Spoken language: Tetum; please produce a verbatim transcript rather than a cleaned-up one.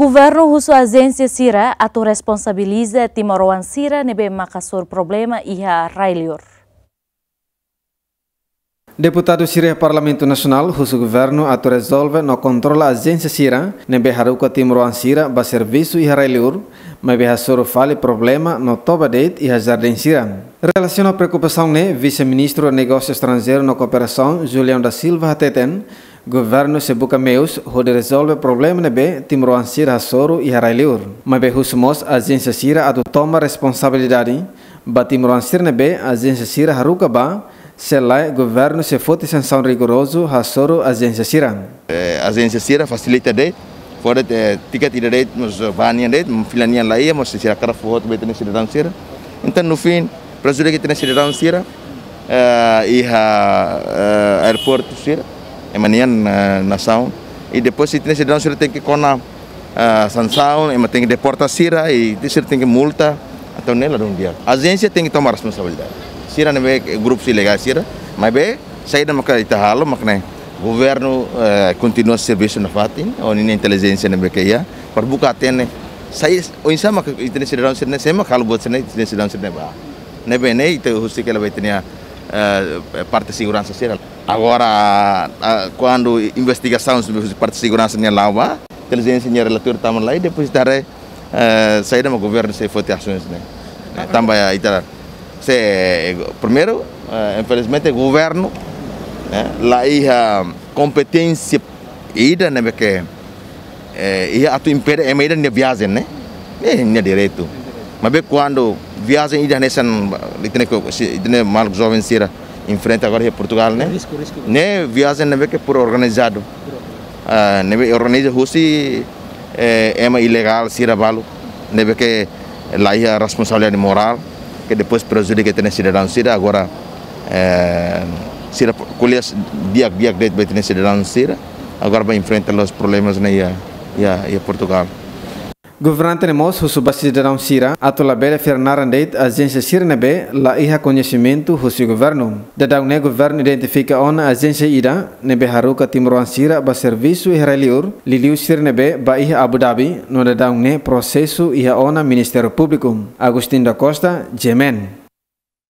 Governu husu ajénsia sira atu responsabiliza timoroan sira ne'ebé mak hasoru problema iha rai-liur. Deputadu sira iha Parlamentu Nasionál husu governu atu rezolve no kontrola ajénsia sira ne'ebé haruka timoroan sira ba servisu iha rai-liur, maibé hasoru fali problema no toba de'it iha jardín sira. Relasiona preokupasaun ne'e, Vise-Ministru Negósiu Estranjeiru no Kooperasaun, Julião da Silva, hateten, governu sei buka meius hodi rezolve problema ne'ebé timoroan sira hasoru iha rai-liur. Maibé husu mós ajénsia sira atu toma responsabilidade ba timoroan sira ne'ebé ajénsia sira haruka ba, se lae governu sei foti sansaun rigorozu hasoru ajénsia sira. Eh, ajénsia sira fasilita de'it, fó de'it, eh, tiket ida de'it, mós ba nian de'it, fila nian la iha, mós sira hakarak fó hotu ba ita-nia sidadaun sira. Entaun, no fim, prejudika ita-nia sidadaun sira, eh, iha, eh, aeroportu sira, ema nian, eh, nasaun. I depois ita-nia sidadaun sira tenke kona, eh, sansaun, ema tenke deporta sira, i sira tenke multa, entaun ne'e ladún di'ak. Ajénsia tenke toma responsabilidade. Sira ne'ebé grupus ilegál sira, maibé saida maka ita halo, mak ne'e governu, eh, kontinua servisu nafatin, ho ninia intelijénsia ne'ebé ke iha, para buka hatene, sai, oinsá maka ita-nia sidadaun sira-ne'e, sé maka halo buat sira-ne'e, ita-nia sidadaun sira-ne'e ba. Ne'ebé ne'e, ita husik hela ba ita-nia, eh, parte seguransa sira. Agora, ah, kuandu investigasaun husi parte seguransa nian la'o ba, intelijénsia nia relatóriu tama lai, depois ita haree, eh, saida mak governu sei foti asaun ne'e. Eh, tanba ita, se, primeiru, eh, infelizmente governu, eh, la iha kompeténsia ida ne'ebé ke, eh, iha atu impede ema ida nia viajen, ne'e? Ne'e nia direitu. Maibé kuandu viajen ida hanesan, ita-nia ko-, si, ita-nia maluk joven sira enfrenta agora iha Portugál, ne'e? Risku, risku. Ne'e viajen ne'ebé ke pur organizadu. Ah, ne'ebé organiza husi, eh, ema ilegál sira balu, ne'ebé ke la iha responsabilidade morál, ke depois prejudika ita-nia sidadaun sira, agora, eh, sira ko'alia di'ak-di'ak de'it ba ita-nia sidadaun sira, agora ba enfrenta loos problemas ne'e iha, iha, iha Portugál. Governante ne'e mós husu ba sidadaun sira atu labele fila naran de'it ajénsia sira ne'ebé la iha koñesimentu husi governu. Daudaun ne'e governu identifika ona ajénsia ida ne'ebé haruka timoroan sira ba servisu iha rai-liur, liuliu sira ne'ebé ba iha Abu Dhabi, no daudaun ne'e prosesu iha ona Ministériu Públiku. Agostinho da Costa, G M N.